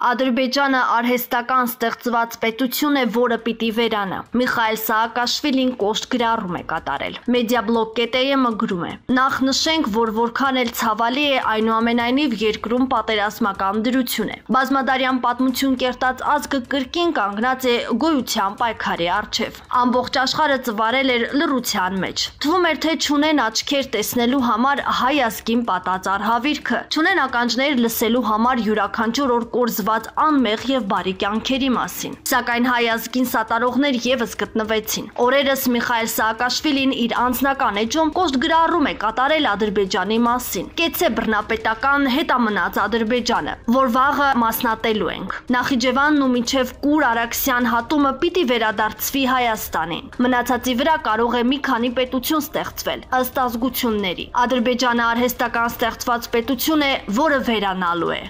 Ադրբեջանը արհեստական ստեղծված պետություն է, որը պիտի վերանա։ Միխայել Սաակաշվիլին կոշտ գրառում է կատարել։ Մեդիաբլոկ.am-ը գրում է. Նախ նշենք, որ որքան էլ ցավալի է, այնուամենայնիվ երկրում պատերազմական դրություն է։ Բազմադարյան պատմություն կերտած ազգը կրկին կանգնած է գոյության պայքարի առջև։ Ամբողջ աշխարհը ծվարել էր լռության մեջ։ Թվում էր, թե չունեն աչքեր տեսնելու համար հայ ազգին պատած արհավիրքը, չունեն ականջներ լսելու համար յուրաքանչյուր օր կորզված անմեղ եւ բարի կյանքերի մասին։ Սակայն հայ ազգին սատարողներ եւս գտնվեցին։ Օրերս Միխայել Սաակաշվիլին իր անձնական էջում կոշտ գրառում է կատարել Ադրբեջանի մասին։ Կեցե բռնապետական հետամնաց Ադրբեջանը, որ վաղը մասնատելու ենք։ Նախիջևանն ու մինչև Կուր Արաքսյան հատումը պիտի վերադարձվի Հայաստանին։ Մնացածի վրա կարող է մի քանի պետություն ստեղծվել ըստ ազգությունների։ Ադրբեջանը արհեստական ստեղծված պետություն է, որը վերանալու է։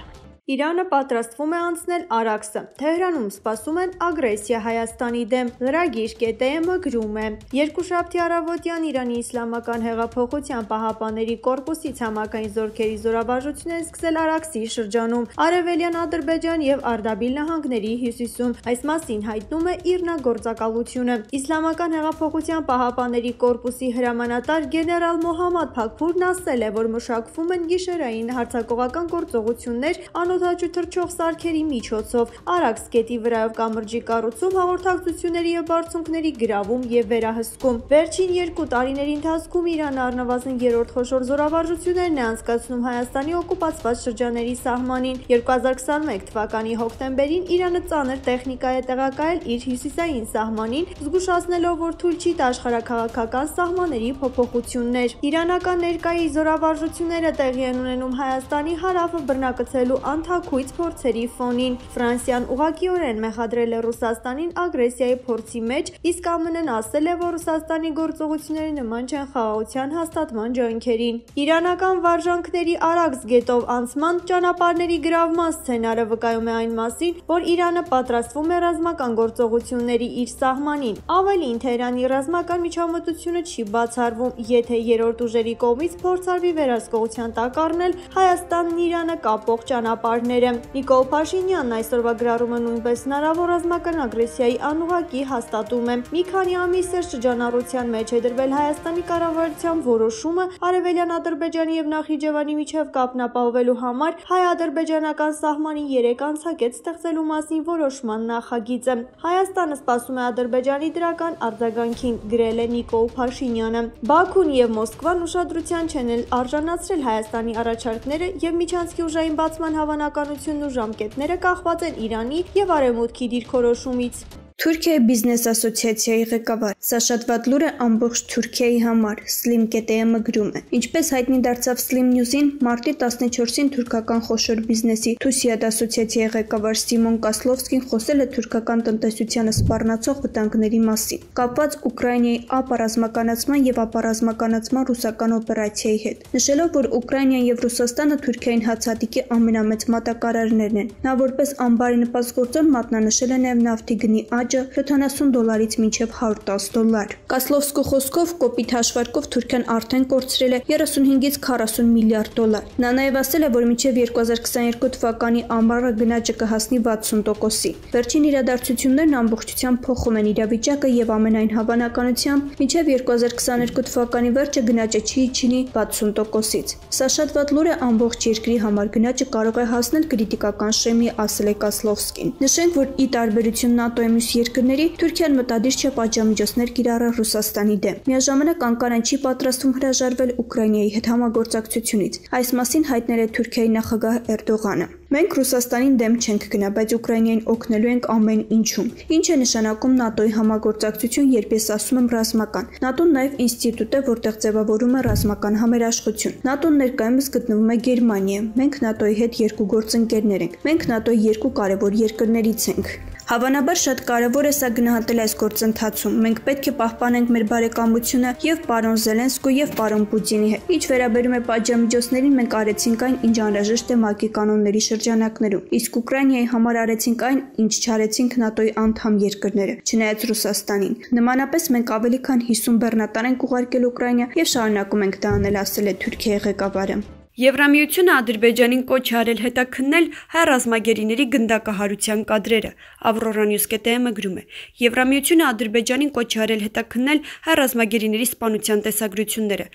Իրանը պատրաստվում է անցնել Արաքսը։ Թեհրանում սպասում են ագրեսիա Հայաստանի դեմ։ Լրագիր.am-ը գրում է. Երկուշաբթի առավոտյան Իրանի Իսլամական հեղափոխության պահապանների կորպուսի ցամաքային զորքերի զորավարժությունները սկսել Արաքսի շրջանում, Արևելյան Ադրբեջան եւ Արդաբիլ նահանգների հյուսիսում։ Այս մասին հայտնում է ԻՌՆԱ գործակալությունը։ Իսլամական հեղափոխության պահապանների կորպուսի հրամանատար գեներալ Մոհամմադ Փաքփուրն ասել է, որ մշակվում են գիշերային հարձակողական գործողություններ անօդաչու թռչող սարքերի միջոցով, Արաքս գետի վրայով կամրջի կառուցում, հաղորդակցությունների եւ բարձունքների գրավում եւ վերահսկում։ Վերջին 2 տարիների ընթացքում Իրանը առնվազն 3-րդ խոշոր զորավարժություններն է անցկացնում Հայաստանի օկուպացված շրջանների սահմանին։ 2021 թվականի հոկտեմբերին Իրանը ծանր տեխնիկա է տեղակայել իր հյուսիսային սահմանին, զգուշացնելով, որ թույլ չի տա աշխարհաքաղաքական սահմանների փոփոխություններ։ Իրանական ներկայի զորավարժությունները տեղի են ունենում Հայաստանի հարավը բռնակցելու անթաքույց փորձերի ֆոնին։ Ֆրանսիան ուղղակիորեն մեղադրել է Ռուսաստանին ագրեսիայի փորձի մեջ, իսկ ԱՄՆ-ն ասել է, որ Ռուսաստանի գործողությունները նման չեն խաղաղության հաստատման ջանքերին։ Իրանական վարժանքների Արաքս գետով անցման ճանապարհների գրավման սցենարը վկայում է այն մասին, որ Իրանը պատրաստվում է ռազմական գործողությունների իր սահմանին։ Ավելին, Թեհրանի ռազմական միջամտությունը չի բացառվում, եթե երրորդ ուժերի կողմից փորձարվի վերահսկողության տակ առնել Հայաստանն Իրանը կապող ճանապարհները։ Նիկոլ Փաշինյանն այսօրվա գրառումը նույնպես հնարավոր ռազմական ագրեսիայի անուղղակի հաստատում է։ Մի քանի ամիս է շրջանառության մեջ է դրվել Հայաստանի կառավարության որոշումը Արևելյան Ադրբեջանի եւ Նախիջևանի միջև կապն ապահովելու համար հայ-ադրբեջանական սահմանին 3 անցակետ ստեղծելու մասին որոշման նախագիծը։ Հայաստանը սպասում է Ադրբեջանի դրական արձագանքին, գրել է Նիկոլ Փաշինյանը։ Բաքուն եւ Մոսկվան ուշադրության չեն արժանացրել Հայաստանի առաջարկները եւ միջանցքի ուժային բացման հավանականությունն ու ժամկետները կախված են Իրանի եւ Արևմուտքի դիրքորոշումից։ Թուրքիայի բիզնես ասոցիացիայի ղեկավար Սա շատ վատ լուր է ամբողջ Թուրքիայի համար, Slim.am-ը գրում է։ Ինչպես հայտնի դարձավ Slim News-ին, մարտի 14-ին թուրքական խոշոր բիզնեսի Թուսիադ ասոցիացիայի ղեկավար Սիմոն Կասլովսկին խոսել է թուրքական տնտեսությանը սպառնացող վտանգների մասին, կապված Ուկրաինայի ապառազմականացման եւ ապառազմականացման ռուսական օպերացիայի հետ, նշելով, որ Ուկրաինան եւ Ռուսաստանը Թուրքիային հացադիկի ամենամեծ մատակարարներն են։ Նա որպես ամբարի նպաստգործող մատնանշել է նաեւ նավթի գնի $70-ից մինչև $110։ Կասլովսկու խոսքով կոպիտ հաշվարկով Թուրքիան արդեն կորցրել է 35-ից 40 միլիարդ դոլար։ Նա նաև ասել է, որ մինչև 2022 թվականի ամառը գնաճը կհասնի 60%-ի։ Վերջին իրադարձություններն ամբողջությամբ փոխում են իրավիճակը եւ ամենայն հավանականությամբ մինչև 2022 թվականի վերջը գնաճը չի իջնի 60%-ից։ Սա շատ վատ լուր է ամբողջ երկրի համար, գնաճը կարող է հասնել կրիտիկական շեմի, ասել է Կասլովսկին։ Նշենք, որ ի տարբերություն ՆԱՏՕ-ի մյուս երկրների Թուրքիան մտադիր չէ պատժամիջոցներ կիրառել Ռուսաստանի դեմ։ Միաժամանակ Անկարան չի պատրաստվում հրաժարվել Ուկրաինայի հետ համագործակցությունից։ Այս մասին հայտնել է Թուրքիայի նախագահ Էրդողանը։ Մենք Ռուսաստանին դեմ չենք գնա, բայց Ուկրաինային օգնելու ենք ամեն ինչում։ Ինչ է նշանակում ՆԱՏՕ-ի համագործակցություն, երբ ես ասում եմ ռազմական։ ՆԱՏՕ-ն նաև ինստիտուտ է, որտեղ ձևավորում է ռազմական համերաշխություն։ ՆԱՏՕ-ն ներկայումս գտնվում է Գերմանիայում։ Մենք ՆԱՏՕ-ի հետ երկու գործընկերներ ենք։ Մենք ՆԱՏՕ-ի երկու կարևոր երկրներից ենք։ Հավանաբար շատ կարևոր է սա գնահատել այս գործընթացում։ Մենք պետք է պահպանենք մեր բարեկամությունը եւ պարոն Զելենսկու եւ պարոն Պուտինի հետ։ Ինչ վերաբերում է պատժամիջոցներին, մենք արեցինք այն, ինչ անհրաժեշտ է ՄԱԿ-ի կանոնների շրջանակներում։ Իսկ Ուկրաինայի համար արեցինք այն, ինչ չարեցինք ՆԱՏՕ-ի անդամ երկրները, չնայած Ռուսաստանին։ Նմանապես մենք ավելի քան 50 բեռնատար ենք ուղարկել Ուկրաինա եւ շարունակում ենք դա անել, ասել է Թուրքիայի ղեկավարը։ Եվրամիությունը Ադրբեջանին կոչ է արել հետաքննել հայ ռազմագերիների գնդակահարության կադրերը, Avroranews.am-ը գրում է. Եվրամիությունը Ադրբեջանին կոչ է արել հետաքննել հայ ռազմագերիների սպանության տեսագրությունները,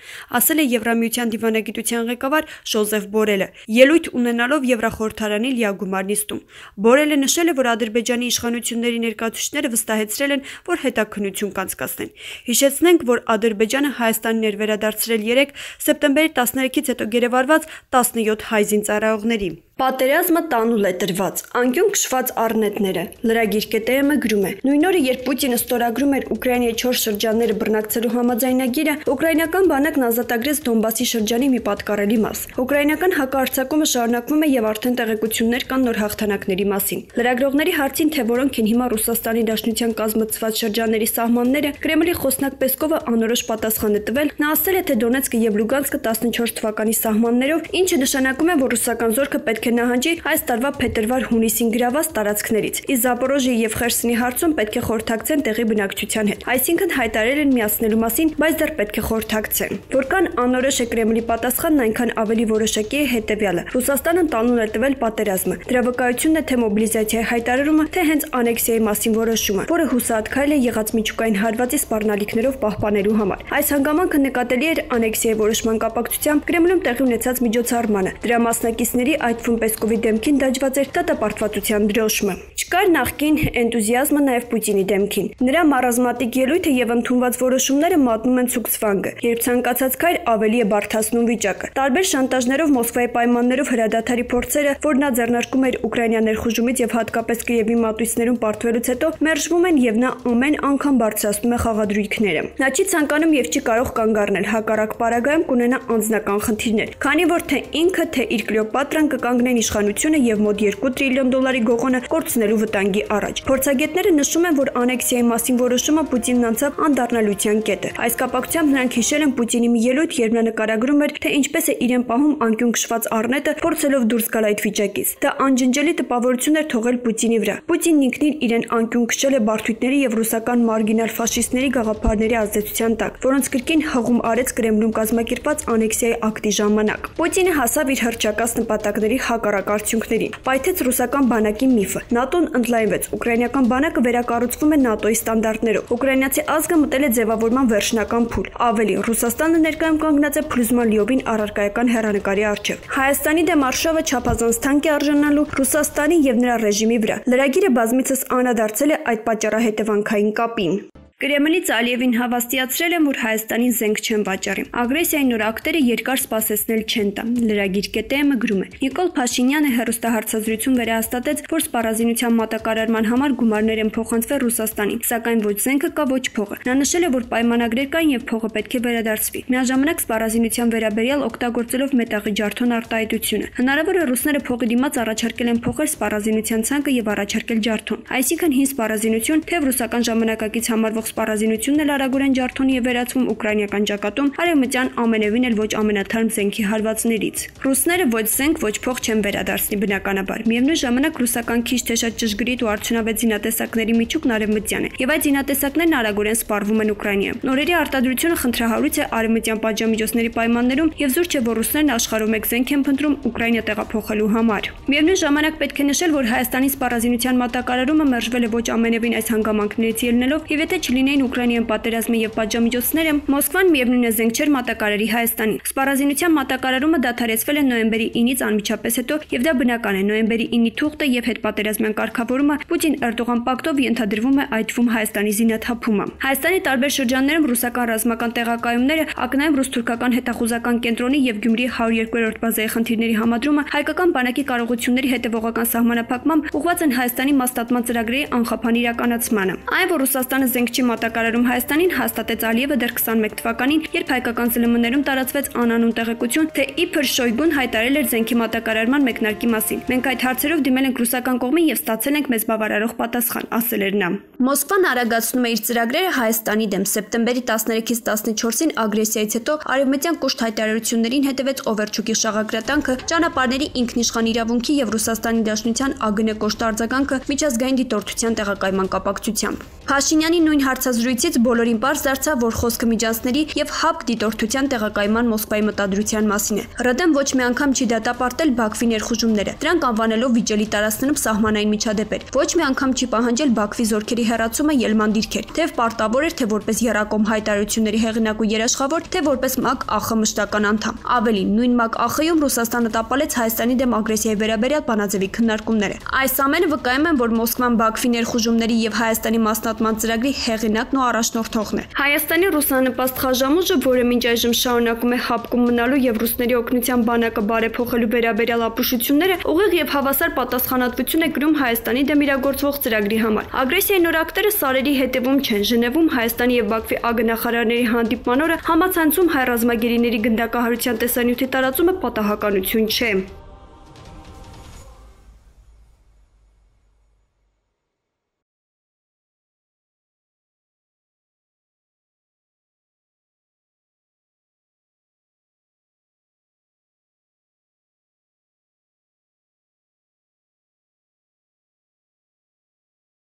ասել է Եվրամիության դիվանագիտության ղեկավար Ժոզեֆ Բորելը, ելույթ ունենալով Եվրախորհրդարանի լիագումար նիստում։ Բորելը նշել է, որ Ադրբեջանի իշխանությունների ներկայացուցիչները վստահեցրել են, որ հետաքննություն կանցկացնեն։ Հիշեցնենք, որ Ադրբեջանը Հայաստանին էր վերադարձրել 3 սեպտեմբերի 13-ից հետո գերեվարված 17 հայ զինծառայողների։ Պատերազմը տանուլ է տրված, անկյուն քշված առնետները, Lragir.am-ը գրում է. Նույն օրը, երբ Պուտինը ստորագրում էր Ուկրաինայի 4 շրջանները բռնակցելու համաձայնագիրը, ուկրաինական բանակն ազատագրեց Դոնբասի շրջանի մի պատկառելի մաս։ Ուկրաինական հակահարձակումը շարունակվում է եւ արդեն տեղեկություններ կան նոր հաղթանակների մասին։ Լրագրողների հարցին, թե որոնք են հիմա Ռուսաստանի Դաշնության կազմակերպված շրջանների սահմանները, Կրեմլի խոսնակ Պեսկովը անորոշ պատասխան է տվել, նա ասել է, թե Դոնեցկը եւ Լուգանսկը 14 թվականի սահմաններով, ինչը նշանակում է, որ ռուսական զորքը պետք է նահանջի այս տարվա փետրվար-հունիսին գրաված տարածքներից։ Իսկ Զապորոժիի եւ Խերսոնի հարցում պետք է խորհրդակցեն տեղի բնակչության հետ։ Այսինքն հայտարարել են միացնելու մասին, բայց դեռ պետք է խորհրդակցեն։ Որքան անորոշ է Կրեմլի պատասխանն, այնքան ավելի որոշակի է հետեւյալը. Ռուսաստանը տանուլ է տվել պատերազմը։ Դրա վկայությունն է թե մոբիլիզացիայի հայտարարումը, թե հենց անեքսիայի մասին որոշումը, որը հուսահատ քայլ է եղած միջուկային հարվածի սպառնալիքներով պահպանելու համար։ Այս հանգամանքը նկատելի էր անեքսիայի որոշման կապակցությամբ Կրեմլում տեղի ունեցած միջոցառմանը։ Դրա մասնակիցների, այդ թվում Պեսկովի դեմքին դաջված էր դատապարտվածության դրոշմը։ Չկար նախկին էնտուզիազմը նաև Պուտինի դեմքին։ Նրա մարազմատիկ ելույթը եւ ընդունված որոշումները մատնում են ցուկսվանգը, երբ ցանկացած քայլ ավելի է բարդացնում վիճակը։ Տարբեր շանտաժներով Մոսկվայի պայմաններով հրադադարի փորձերը, որ նա ձեռնարկում էր Ուկրաինա ներխուժումից եւ հատկապես Կիևի մատույցներում պարտվելուց հետո, մերժվում են եւ նա ամեն անգամ բարձրացնում է խաղադրույքները։ Նա չի ցանկանում եւ չի կարող կանգ առնել, հակառակ պարագայում կունենա անձնական խնդիրներ, քանի որ թե ինքը, թե իր Կլեոպատրան կկանգնեն իշխանությունը եւ մոտ 2 տրիլիոն դոլարի գողոնը կորցնելու վտանգի առաջ։ Փորձագետները նշում են, որ անեքսիայի մասին որոշումը Պուտինն անցավ անդառնալության կետը։ Այս կապակցությամբ նրանք հիշել են Պուտինի մի ելույթ, երբ նա նկարագրում էր, թե ինչպես է իրեն պահում անկյուն քշված առնետը, փորձելով դուրս գալ այդ վիճակից։ Դա անջնջելի տպավորություն էր թողել Պուտինի վրա։ Պուտինն ինքնին իրեն անկյուն քշել է բարդույթների եւ ռուսական մարգինալ ֆաշիստների գաղափարների ազդեցության տակ, որոնց կրկին հղում արեց Կրեմլում կազմակերպված անեքսիայի ակտի ժամանակ։ Պուտինը հասավ իր հռչակած նպատակների հակառակ արդյունքներին։ Պայթեց ռուսական բանակի միֆը։ ՆԱՏՕ-ն ընդլայնվեց։ Ուկրաինական բանակը վերակառուցվում է ՆԱՏՕ-ի ստանդարտներով։ Ուկրաինացի ազգը մտել է ձևավորման վերջնական փուլ։ Ավելի, Ռուսաստանը ներկայում կանգնած է փլուզման լիովին առարկայական հեռանկարի առջև։ Հայաստանի դեմ արշավը չափազանց թանկ է արժանալու Ռուսաստանի եւ նրա ռեժիմի վրա։ Լրագիրը բազմիցս անդրադարձել է այդ պատճառահետևանքային կապին։ Կրեմլից Ալիևին հավաստիացրել են, որ Հայաստանին զենք չեն վաճառի։ Ագրեսիայի նոր ակտերը երկար սպասեցնել չեն տա։ Lragir.am-ը գրում է. Նիկոլ Փաշինյանը հեռուստահարցազրույցում վերահաստատեց, որ սպառազինության մատակարարման համար գումարներ են փոխանցվել Ռուսաստանին, սակայն ոչ զենքը կա, ոչ փողը։ Նա նշել է, որ պայմանագրեր կային եւ փողը պետք է վերադարձվի։ Միաժամանակ սպառազինության վերաբերյալ օգտագործելով մետաղի ջարդոն արտահայտությունը։ Հնարավոր է ռուսները փողի դիմաց առաջարկել են փոխել սպառազինության ցանկը եւ առաջարկել ջարդոն։ Այսինքն հին սպառազինություն, թե ռուսական ժամանակակից համարվող սպառազինությունն էլ արագորեն ջարդոնի է վերածվում ուկրաինական ճակատում արևմտյան ամենևին էլ ոչ ամենաթարմ զենքի հարվածներից։ Ռուսները ոչ զենք, ոչ փող չեն վերադարձնի բնականաբար։ Միևնույն ժամանակ ռուսական քիչ թե շատ ճշգրիտ ու արդյունավետ զինատեսակների միջուկն արևմտյան է, եւ այդ զինատեսակներն արագորեն սպառվում են Ուկրաինայում։ Նորերի արտադրությունը խնդրահարույց է արևմտյան պատժամիջոցների պայմաններում եւ զուր չէ, որ ռուսներն աշխարհում մեկ զենք են փնտրում Ուկրաինա տեղափոխելու համար։ Միևնույն ժամանակ պետք է նշել, որ Հայաստանի սպառազինության մատակարարումը մերժվել է ոչ ամենևին այս հանգամանքներից ելնելով, եւ եթե չլինեին Ուկրաինայում պատերազմը եւ պատժամիջոցները, Մոսկվան միևնույն է զենք չէր մատակարարի Հայաստանին։ Սպառազինության մատակարարումը դադարեցվել է նոյեմբերի 9-ից անմիջապես հետո, եւ դա բնական է։ Նոյեմբերի 9-ի թուղթը եւ հետպատերազմյան կարգավորումը Պուտին-Էրդողան պակտով ենթադրվում է այդ թվում Հայաստանի զինաթափումը։ Հայաստանի տարբեր շրջաններում ռուսական ռազմական տեղակայումները, ակնայում ռուս-թուրքական հետախուզական կենտրոնի եւ Գյումրիի 102-րդ բազայի խնդիրների համադրումը հայկական բանակի կարողությունների հետևողական սահմանափակմամբ ուղղված են Հայաստանի մասնատման ծրագրերի անխափան իրականացմանը։ Այն, որ Ռուսաստանը զենք չի մատակարարում Հայաստանին, հաստատեց Ալիևը դեռ 21 թվականին, երբ հայկական ԶԼՄ-ներում տարածվեց անանուն տեղեկություն, թե իբր Շոյգուն հայտարարել էր զենքի մատակարարման մեկնարկի մասին։ Մենք այդ հարցերով դիմել ենք ռուսական կողմին եւ ստացել ենք մեզ բավարարող պատասխան, ասել էր նա։ Մոսկվան արագացնում է իր ծրագրերը Հայաստանի դեմ։ Սեպտեմբերի 13-ից 14-ին ագրեսիայից հետո արևմտյան կուշտ հայտարարություններին հետևեց Օվերչուկի շաղակրատանքը, ճանապարհների ինքնիշխան իրավունքի եւ Ռուսաստանի Դաշնության ԱԳՆ կոշտ արձագանքը միջազգային դիտորդության տեղակայման կապակցությամբ։ Փաշինյանի նույն հարցը հարցազրույցից բոլորին պարզ դարձավ, որ խոսքը միջանցքների եւ ՀԱՊԿ դիտորդության տեղակայման Մոսկվայի մտադրության մասին է։ ՌԴ-ն ոչ մի անգամ չի դատապարտել Բաքվի ներխուժումները, դրանք անվանելով վիճելի տարածքներում սահմանային միջադեպեր։ Ոչ մի անգամ չի պահանջել Բաքվի զորքերի հեռացումը ելման դիրքեր, թեև պարտավոր էր, թե որպես Եռակոմ հայտարարությունների հեղինակ ու երաշխավոր, թե որպես ՄԱԿ ԱԽ մշտական անդամ։ Ավելին, նույն ՄԱԿ ԱԽ-ում Ռուսաստանը տապալեց Հայաստանի դեմ ագրեսիայի վերաբերյալ բանաձևի քննարկումները։ Այս ամենը վկայում են, որ Մոսկվան Բաքվի ներխուժումների եւ Հայաստանի մասնատման ծրագրի հեղինակն ու առաջնորդողն է։ Հայաստանի ռուսանպաստ խաժամուժը, որը մինչ այժմ շարունակում է ՀԱՊԿ-ում մնալու եւ ռուսների օգնության բանակը բարեփոխելու վերաբերյալ ապուշությունները, ուղիղ եւ հավասար պատասխանատվություն է կրում Հայաստանի դեմ իրագործվող ծրագրի համար։ Ագրեսիայի նոր ակտերը սարերի հետևում չեն։ Ժնևում Հայաստանի եւ Բաքվի ԱԳՆ-նախարարների հանդիպման օրը համացանցում հայ ռազմագերիների գնդակահարության տեսանյութի տարածումը պատահականություն չէ։